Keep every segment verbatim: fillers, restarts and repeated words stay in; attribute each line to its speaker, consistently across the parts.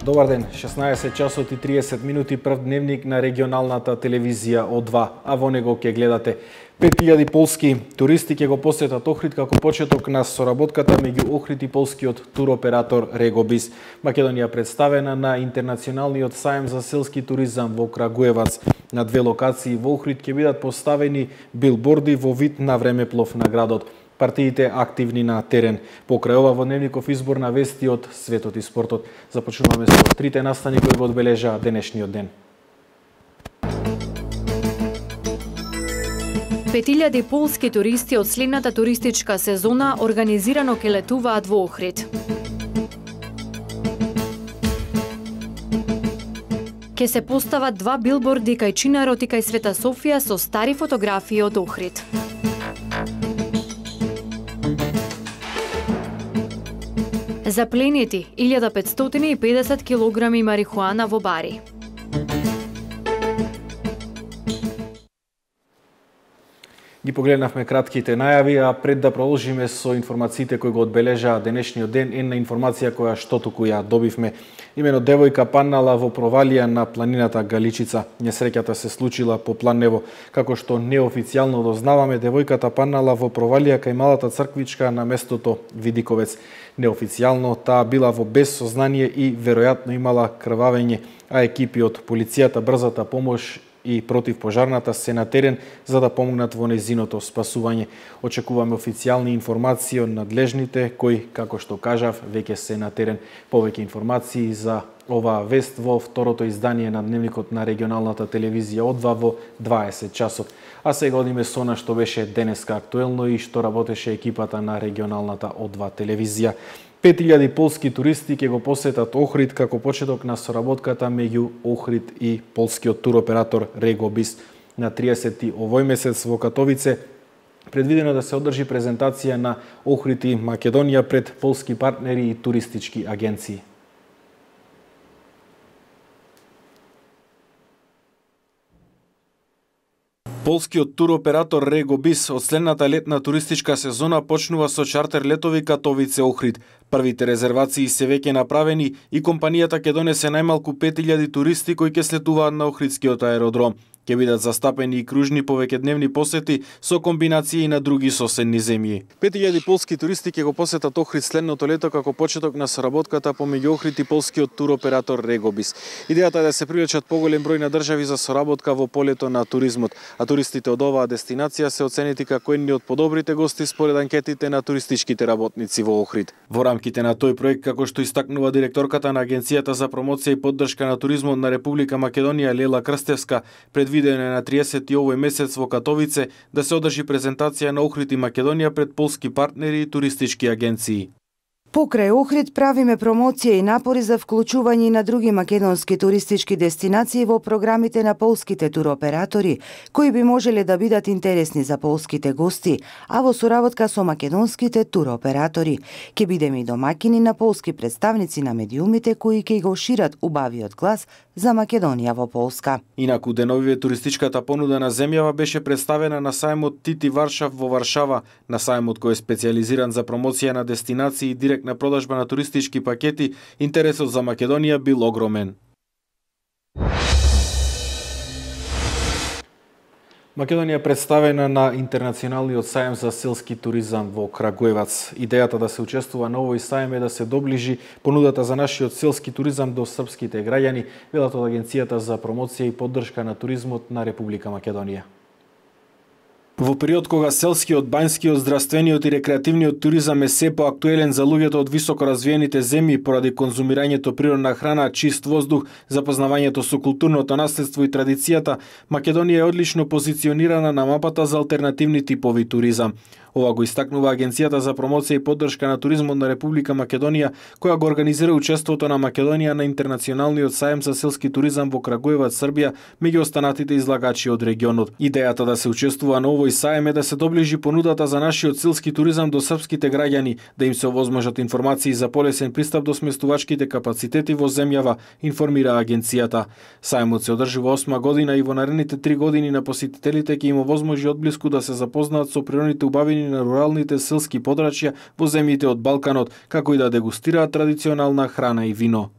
Speaker 1: Добар ден, шеснаесет часот и триесет минути, прв дневник на регионалната телевизија О два, а во него ќе гледате пет илјади полски туристи ќе го посетат Охрид како почеток на соработката меѓу Охрид и полскиот туроператор Регобис. Македонија представена на интернационалниот сајм за селски туризам во Крагуевац. На две локации во Охрид ќе бидат поставени билборди во вид на времеплов на градот. Партиите активни на терен. Покрај ова во дневников избор на вести од светот и спортот. Започнуваме со трите настани кои го одбележаа денешниот ден.
Speaker 2: пет илјади полски туристи од следната туристичка сезона организирано ќе летуваат во Охрид. Ке се постават два билборди кај Чинарот и кај Света Софија со стари фотографии од Охрид. Запленети илјада петстотини и педесет килограми марихуана во бари.
Speaker 1: Ги погледнавме кратките најави, а пред да продолжиме со информациите кои го одбележаа денешниот ден, една информација која што туку ја добивме. Имено девојка паднала во провалија на планината Галичица. Несреќата се случила по Планево. Како што неофицијално дознаваме, девојката паднала во провалија кај малата црквичка на местото Видиковец. Неофицијално таа била во безсознание и веројатно имала крвавење, а екипи од полицијата, брзата помош и противпожарната се на терен за да помогнат во нејзиното спасување. Очекуваме официјални информации од надлежните кои, како што кажав, веќе се на терен. Повеќе информации за оваа вест во второто издание на дневникот на регионалната телевизија О два во дваесет часот. А сега одиме со она што беше денеска актуелно и што работеше екипата на регионалната О два телевизија. пет илјади полски туристи ќе го посетат Охрид како почеток на соработката меѓу Охрид и полскиот туроператор Регобис. На триесети овој месец во Катовице предвидено да се одржи презентација на Охрид и Македонија пред полски партнери и туристички агенции. Полскиот туроператор Регобис од следната летна туристичка сезона почнува со чартер летови Катовице-Охрид. Првите резервации се веќе направени и компанијата ќе донесе најмалку пет илјади туристи кои ќе слетуваат на Охридскиот аеродром. Ќе бидат застапени и кружни повеќедневни посети со комбинации на други соседни земји. пет илјади полски туристи ќе го посетат Охрид следното лето како почеток на соработката помеѓу Охрид и полскиот туроператор Регобис. Идејата е да се привлечат поголем број на држави за соработка во полето на туризмот, а туристите од оваа дестинација се оценети како едни од подобрите гости според анкетите на туристичките работници во Охрид. Во рамките на тој проект, како што истакнува директорката на Агенцијата за промоција и поддршка на туризмот на Република Македонија Лела Крстевска, предвидено е на триесети овој месец во Катовице да се одржи презентација на Охрид и Македонија пред полски партнери и туристички агенции.
Speaker 3: Покрај Охрид правиме промоција и напори за вклучување на други македонски туристички дестинации во програмите на полските туроператори, кои би можеле да бидат интересни за полските гости, а во соработка со македонските туроператори. Ке бидеме и домаќини на полски представници на медиумите кои ќе го шират убавиот глас за Македонија во Полска.
Speaker 1: Инаку деновиве туристичката понуда на земјава беше представена на сајмот Тити Варшав во Варшава, на сајмот кој е специјализиран за промоција на дестинации и директна продажба на туристички пакети. Интересот за Македонија бил огромен. Македонија представена на интернационалниот сајм за селски туризам во Крагуевац. Идејата да се учествува на овој сајм е да се доближи понудата за нашиот селски туризам до српските граѓани, велат од Агенцијата за промоција и поддршка на туризмот на Република Македонија. Во период кога селскиот, бањскиот, здравствениот и рекреативниот туризам е се поактуелен за луѓето од високо развиените земји поради конзумирањето природна храна, чист воздух, запознавањето со културното наследство и традицијата, Македонија е одлично позиционирана на мапата за алтернативни типови туризам. Ова го истакнува Агенцијата за промоција и поддршка на туризмот на Република Македонија, која го организира учеството на Македонија на интернационалниот сајм за селски туризам во Крагуевац, Србија, меѓу останатите излагачи од регионот. Идејата да се учествува на овој сајм е да се доближи понудата за нашиот селски туризам до српските граѓани, да им се овозможат информации за полесен пристап до сместувачките капацитети во земјава, информира агенцијата. Сајмот се одржува осма година и во наредните три години на посетителите ќе им овозможи одблиску да се запознаат со природните убавини на руралните селски подрачја во земјите од Балканот, како и да дегустираат традиционална храна и вино.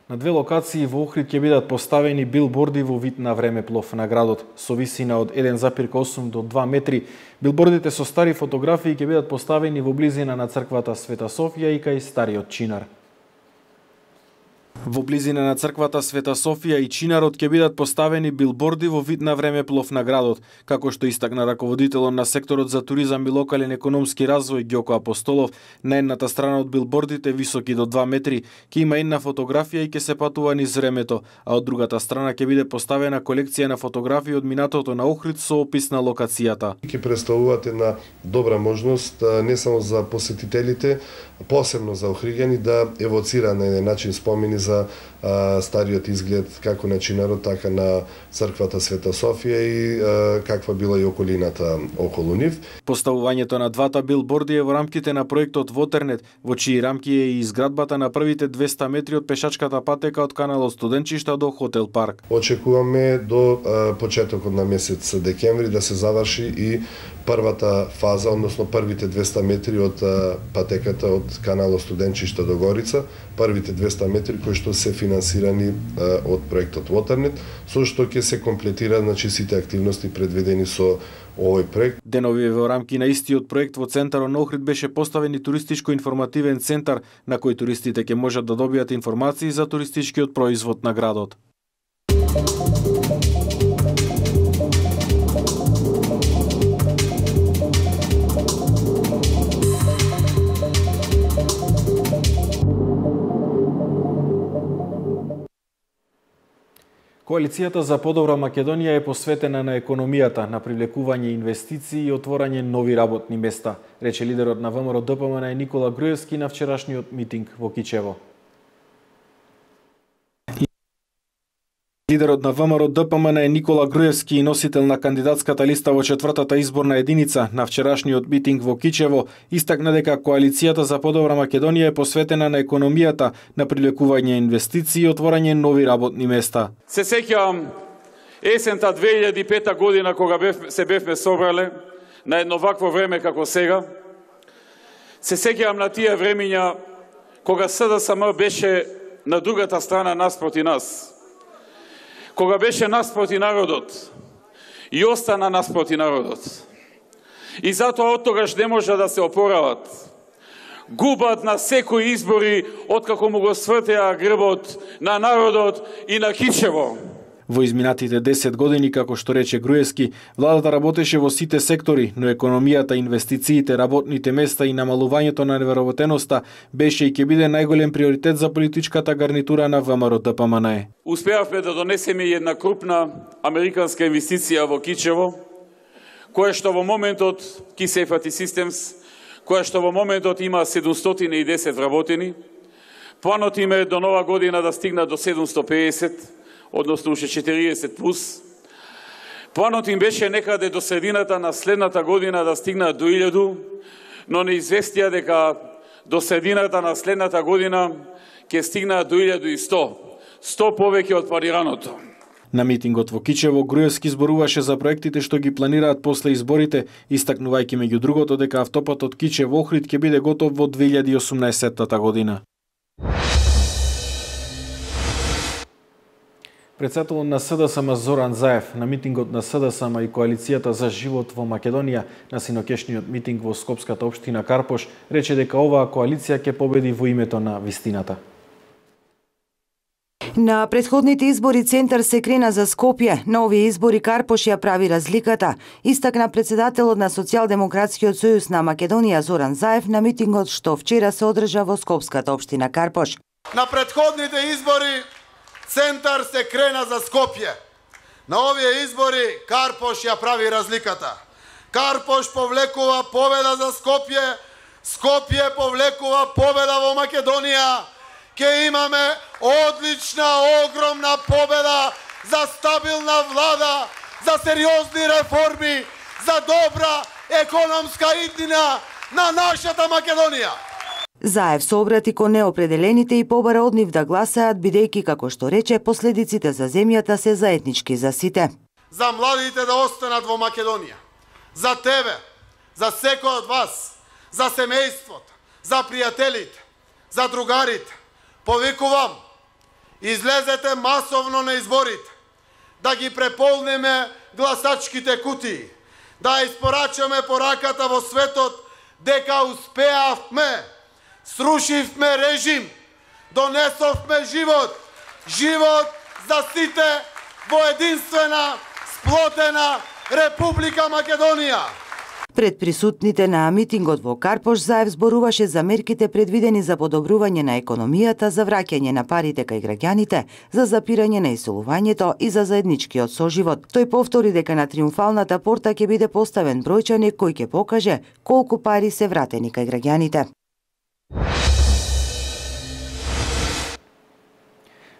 Speaker 1: На две локации во Охрид ќе бидат поставени билборди во вид на времеплов на градот, со висина од еден запир осум до два метри. Билбордите со стари фотографии ќе бидат поставени во близина на црквата Света Софија и кај стариот Чинар. Во близина на црквата Света Софија и Чинарот ќе бидат поставени билборди во вид на времеплов на градот, како што истакна раководителот на секторот за туризам и локален економски развој Ѓоко Апостолов. На едната страна од билбордите, високи до два метри, ќе има една фотографија и ќе се патува низ времето, а од другата страна ќе биде поставена колекција на фотографии од минатото на Охрид со опис на локацијата.
Speaker 4: Ќе представуваат една добра можност не само за посетителите, посебно за охриѓани да евоцира на еден начин спомени за а, стариот изглед како на Чинарот, така на црквата Света Софија и а, каква била и околината околу нив.
Speaker 1: Поставувањето на двата билборди е во рамките на проектот Вотернет, во чии рамки е и изградбата на првите двеста метри од пешачката патека од каналот Студенчишта до Хотел Парк.
Speaker 4: Очекуваме до а, почетокот на месец декември да се заврши и првата фаза, односно првите двеста метри од а, патеката од каналот Студенчишта до Горица, првите двеста метри кои што се финансирани а, од проектот Waternet, со што ќе се комплетира значи сите активности предвидени со овој проект.
Speaker 1: Денови во рамки на истиот проект во центарот на Охрид беше поставен и туристичко-информативен центар на кој туристите ќе можат да добијат информации за туристичкиот производ на градот. Коалицијата за подобра Македонија е посветена на економијата, на привлекување инвестиции и отворање нови работни места, рече лидерот на ВМРО Д П М Н Никола Груевски на вчерашниот митинг во Кичево. Лидерот на ВМРО Д П М Н Никола Груевски и носител на кандидатската листа во четвртата изборна единица на вчерашниот митинг во Кичево истакна дека Коалицијата за подобра Македонија е посветена на економијата, на привлекување инвестиции и отворање нови работни места.
Speaker 5: Се сеќавам есента две илјади и пета година кога бев, се бевме собрале на едно вакво време како сега. Се сеќавам на тие времиња кога С Д С М беше на другата страна наспроти нас. Кога беше наспроти народот и остана наспроти народот. И затоа од тогаш не може да се опорават. Губат на секои избори откако му го свртеа грбот на народот и на Кичево.
Speaker 1: Во изминатите десет години, како што рече Груевски, владата работеше во сите сектори, но економијата, инвестициите, работните места и намалувањето на невработеноста беше и ќе биде најголем приоритет за политичката гарнитура на ВМРО Д П М Н.
Speaker 5: Успеавме да донесеме една крупна американска инвестиција во Кичево, која што во моментот Key Safety Systems, која што во моментот има седумстотини и десет вработени. Планот им е до нова година да стигнат до седумстотини и педесет, односно уште четириесет плюс. Планот им беше некаде до средината на следната година да стигнат до илјаду, но не известија дека до средината на следната година ќе стигнат до илјаду и сто. сто повеќе од планираното.
Speaker 1: На митингот во Кичево Груевски зборуваше за проектите што ги планираат после изборите, истакнувајќи меѓу другото дека автопатот Кичево Охрид ќе биде готов во две илјади и осумнаесетта година. Председателот на С Д С М Зоран Заев на митингот на С Д С М и Коалицијата за живот во Македонија на синокешниот митинг во Скопската општина Карпош рече дека оваа коалиција ќе победи во името на вистината.
Speaker 3: На претходните избори Центар се крена за Скопје, на овие избори Карпош ја прави разликата, истакна председателот на Социјалдемократскиот сојуз на Македонија Зоран Заев на митингот што вчера се одржа во Скопската општина Карпош.
Speaker 6: На претходните избори Центар се крена за Скопје. На овие избори Карпош ја прави разликата. Карпош повлекува победа за Скопје, Скопје повлекува победа во Македонија. Ке имаме одлична, огромна победа за стабилна влада, за сериозни реформи, за добра економска иднина на нашата Македонија.
Speaker 3: Заев се обрати кон неопределените и побара од нив да гласаат, бидејќи, како што рече, последиците за земјата се заеднички за сите.
Speaker 6: За младите да останат во Македонија, за тебе, за секој од вас, за семејството, за пријателите, за другарите. Повикувам, излезете масовно на изборите, да ги преполнеме гласачките кутии, да испорачаме пораката во светот дека успеавме, срушивме режим, донесовме живот, живот за сите во единствена, сплотена Република Македонија.
Speaker 3: Пред присутните на митингот во Карпош, Заев зборуваше за мерките предвидени за подобрување на економијата, за враќање на парите кај граѓаните, за запирање на исолувањето и за заедничкиот соживот. Тој повтори дека на триумфалната порта ќе биде поставен бројчаник кој ќе покаже колку пари се вратени кај граѓаните.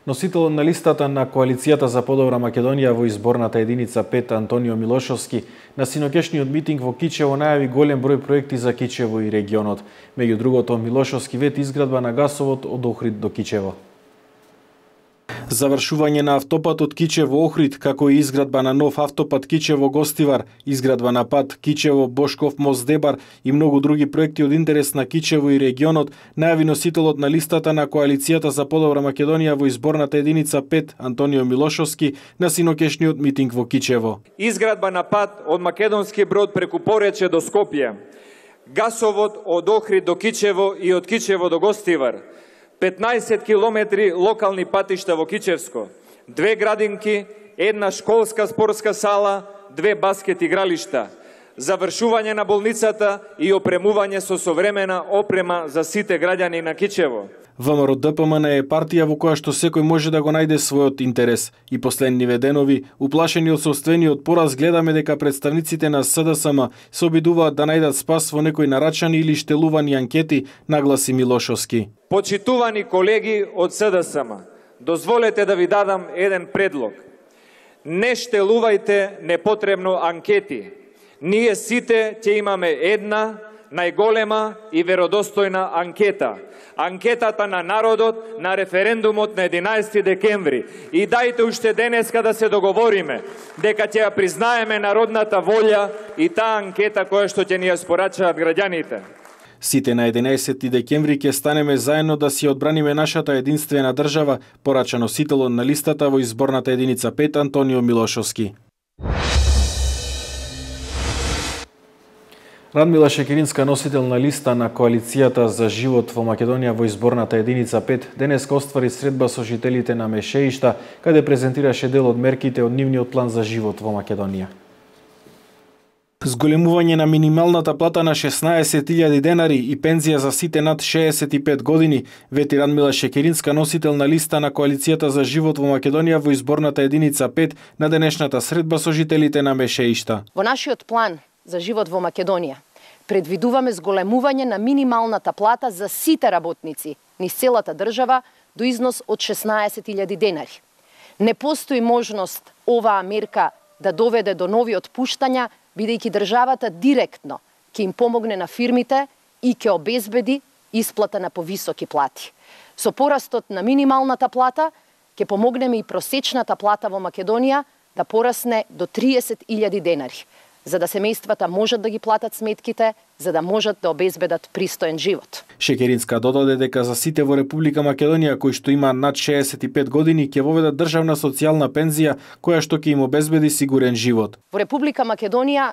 Speaker 1: Носител на листата на Коалицијата за подобра Македонија во изборната единица пет Антонио Милошовски на синокешниот митинг во Кичево најави голем број проекти за Кичево и регионот. Меѓу другото, Милошовски вети изградба на гасовод од Охрид до Кичево. Завршување на автопатот Кичево-Охрид, како и изградба на нов автопат Кичево-Гостивар, изградба на пат Кичево-Бошков мост-Дебар и многу други проекти од интерес на Кичево и регионот, најави носителот на листата на Коалицијата за подобра Македонија во изборната единица пет Антонио Милошовски на синокешниот митинг во Кичево.
Speaker 7: Изградба на пат од Македонски Брод преку Порече до Скопје, гасовод од Охрид до Кичево и од Кичево до Гостивар, петнаесет километри локални патишта во Кичевско, две градинки, една школска спортска сала, две баскет игралишта, завршување на болницата и опремување со современа опрема за сите граѓани на Кичево.
Speaker 1: ВМРО-ДПМН е партија во која што секој може да го најде својот интерес. И последниве денови, уплашени од собствениот пораз, гледаме дека представниците на СДСМ се обидуваат да најдат спас во некои нарачани или штелувани анкети, нагласи Милошовски.
Speaker 7: Почитувани колеги од СДСМ, дозволете да ви дадам еден предлог. Не штелувајте непотребно анкети. Ние сите ќе имаме една најголема и веродостојна анкета. Анкетата на народот на референдумот на единаесети декември. И дајте уште денеска да се договориме дека ќе ја признаеме народната волја и таа анкета која што ќе ни ја спорачаат граѓаните.
Speaker 1: Сите на единаесети декември ќе станеме заедно да си одбраниме нашата единствена држава, порача носителот на листата во изборната единица пет Антонио Милошовски. Радмила Шекеринска, носител на листа на Коалицијата за живот во Македонија во изборната единица пет, денеска оствари средба со жителите на Мешеишта, каде презентираше дел од мерките од нивниот план за живот во Македонија. Зголемување на минималната плата на шеснаесет илјади денари и пензија за сите над шеесет и пет години, вети Радмила Шекеринска, носител на листа на Коалицијата за живот во Македонија во изборната единица пет на денешната средба со жителите на Мешеишта.
Speaker 8: Во нашиот план за живот во Македонија предвидуваме зголемување на минималната плата за сите работници низ целата држава до износ од шеснаесет илјади денари. Не постои можност оваа мерка да доведе до нови отпуштања, бидејќи државата директно ќе им помогне на фирмите и ќе обезбеди исплата на повисоки плати. Со порастот на минималната плата ќе помогнеме и просечната плата во Македонија да порасне до триесет илјади денари, за да семејствата можат да ги платат сметките, за да можат да обезбедат пристоен живот.
Speaker 1: Шекеринска додаде дека за сите во Република Македонија кои што има над шеесет и пет години ќе воведат државна социјална пензија која што ќе им обезбеди сигурен живот.
Speaker 8: Во Република Македонија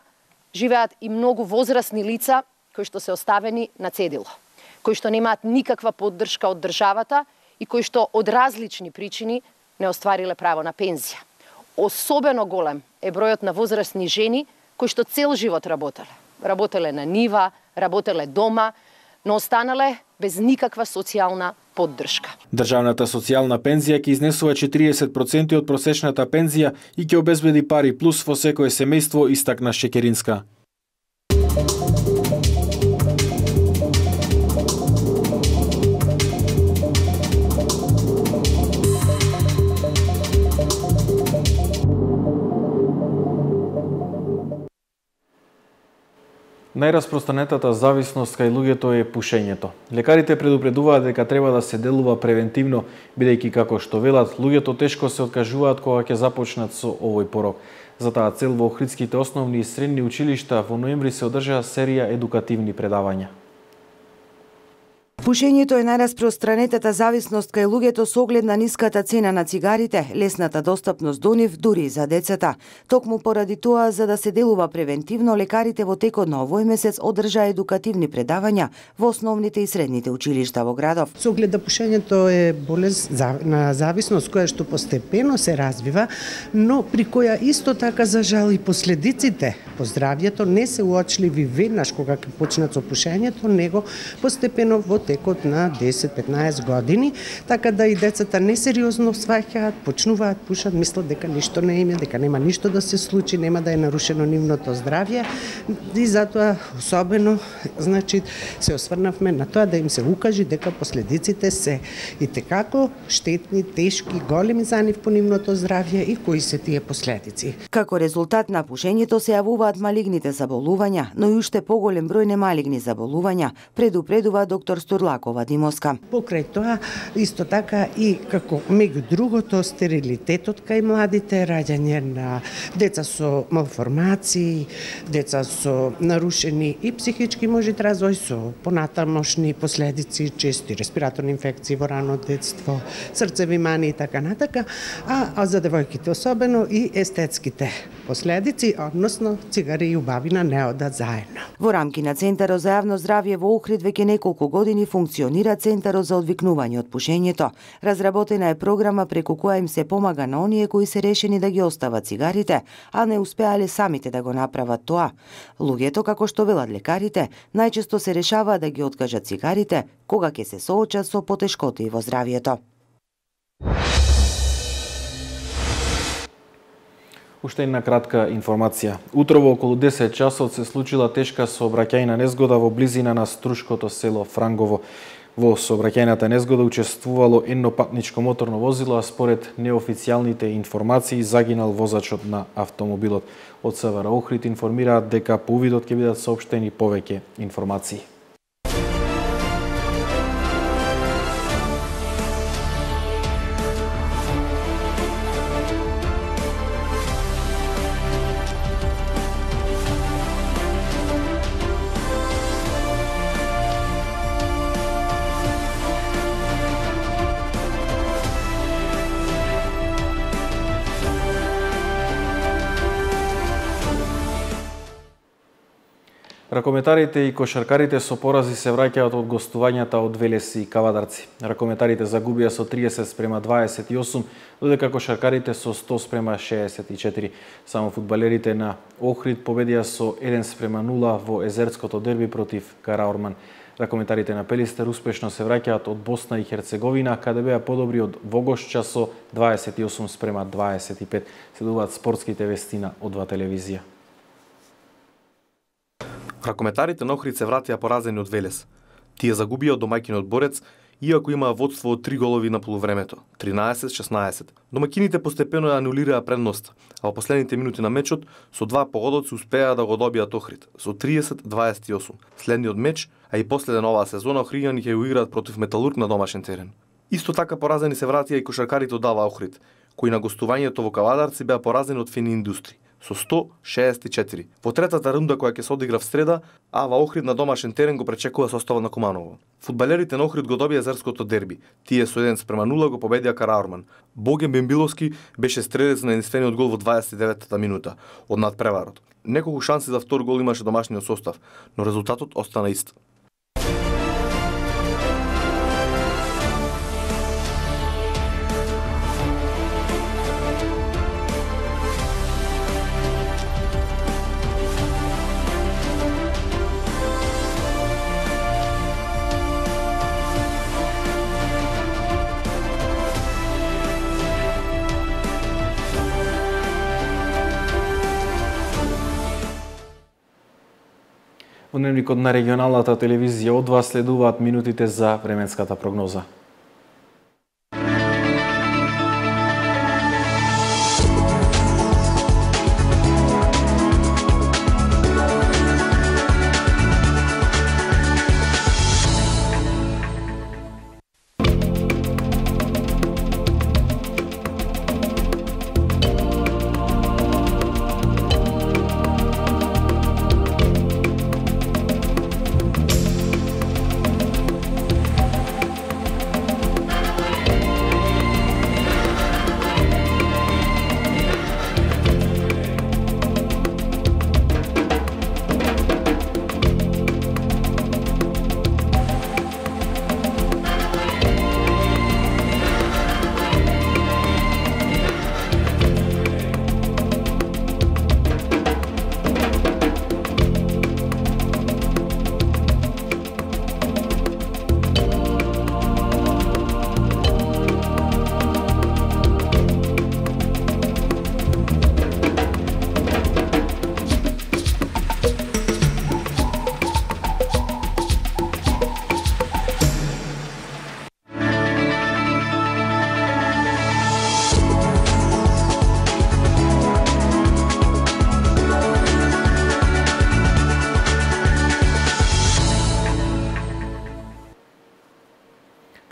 Speaker 8: живеат и многу возрастни лица кои што се оставени на цедило, кои што немаат никаква поддршка од државата и кои што од различни причини не оствариле право на пензија. Особено голем е бројот на возрастни жени кои што цел живот работеле. Работеле на нива, работеле дома, но останале без никаква социјална поддршка.
Speaker 1: Државната социјална пензија ќе изнесува четириесет проценти од просечната пензија и ќе обезбеди пари плюс во секое семејство, истакна Шекеринска. Најраспространетата зависност кај луѓето е пушењето. Лекарите предупредуваат дека треба да се делува превентивно, бидејќи како што велат, луѓето тешко се откажуваат кога ќе започнат со овој порок. За таа цел во Охридските основни и средни училишта во ноември се одржаа серија едукативни предавања.
Speaker 3: Пушењето е најраспространетата зависност кај луѓето со оглед на ниската цена на цигарите, лесната достапност до нив дури и за децата. Токму поради тоа, за да се делува превентивно, лекарите во текот на овој месец одржаа едукативни предавања во основните и средните училишта во градов.
Speaker 9: Со оглед да пушењето е болест на зависност која што постепено се развива, но при која исто така за жал и последиците по здравјето не се уочливи веднаш кога ќе почнат со пушењето, него постепено во текот на десет-петнаесет години, така да и децата несериозно сваќаат, почнуваат пушат, мислат дека ништо не име, дека нема ништо да се случи, нема да е нарушено нивното здравје, и затоа особено, значи, се осврнавме на тоа да им се укажи дека последиците се и текако штетни, тешки, големи за нив по нивното здравје и кои се тие последици.
Speaker 3: Како резултат на пушењето се јавуваат малигните заболувања, но и уште поголем број немалигни заболувања, предупредува доктор Стурлакова Димовска.
Speaker 9: Покрај тоа, исто така и како меѓу другото стерилитетот кај младите, раѓање на деца со малформации, деца со нарушени и психички можат развој со понатамошни последици, чести респираторни инфекции во рано детство, срцеви мани и така натака, а, а за девојките особено и естетските последици, односно цигари и убавина не одат заедно.
Speaker 3: Во рамки на Центарот за јавно здравје во Охрид веќе неколку години функционира Центарот за одвикнување од пушењето. Разработена е програма преку која им се помага на оние кои се решени да ги остават цигарите, а не успеале самите да го направат тоа. Луѓето, како што велат лекарите, најчесто се решаваат да ги откажат цигарите кога ќе се соочат со потешкоти во здравјето.
Speaker 1: Уште една кратка информација. Утрово околу десет часот се случила тешка сообраќајна незгода во близина на струшкото село Франгово. Во сообраќајната незгода учествувало едно патничко моторно возило, а според неофицијалните информации загинал возачот на автомобилот. Од СВР Охрид информираат дека по увидот ќе бидат соопштени повеќе информации. Ракометарите и кошаркарите со порази се враќаат од гостувањата од Велес и Кавадарци. Ракометарите загубија со триесет спрема дваесет и осум, додека кошаркарите со сто спрема шеесет и четири. Само фудбалерите на Охрид победија со еден спрема нула во езерското дерби против Караорман. Ракометарите на Пелистер успешно се враќаат од Босна и Херцеговина, каде беа подобри од Вогошча со дваесет и осум спрема дваесет и пет. Следуваат спортските вести на О два телевизија.
Speaker 10: Ракометарите на Охрид се вратија поразени од Велес. Тие загубија од домаќинот Борец, иако имаа водство од три голови на полувремето, тринаесет шеснаесет. Домаќините постепено ја анулираа предност, а во последните минути на мечот со два погодоци успеа да го добијат Охрид, со триесет дваесет и осум. Следниот меч, а и последен оваа сезона, Охриѓани ќе го играат против Металург на домашен терен. Исто така поразени се вратија и кошаркарите од Ава Охрид, кои на гостувањето во Кавадарци беа поразени од Фени Индустри со сто шеесет и четири. Во третата рунда која ќе се одигра в среда, Ава Охрид на домашен терен го пречекува составот на Куманово. Фудбалерите на Охрид го добија езерското дерби. Тие со еден спрема нула го победија Караорман. Боген Бембиловски беше стрелец на единствениот гол во дваесет и деветата минута од надпреварот. Неколку шанси за втор гол имаше домашниот состав, но резултатот остана ист.
Speaker 1: Во дневникот на регионалната телевизија О два следуваат минутите за временската прогноза.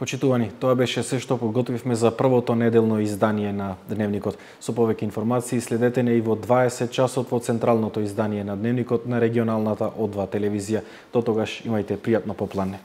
Speaker 1: Почитувани, тоа беше се што подготвивме за првото неделно издание на Дневникот. Со повеќе информации следете не и во дваесет часот во централното издание на Дневникот на регионалната О два телевизија. До тогаш имајте пријатно попладне.